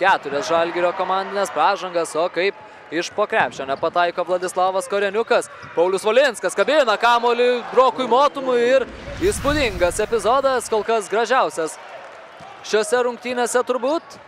4 Žalgirio komandinės pražangas, o kaip iš po krepšio nepataiko Vladislavas Koreniukas. Paulius Valinskas kabina kamuolį Rokui Motumui ir įspūdingas epizodas, kol kas gražiausias šiose rungtynėse turbūt.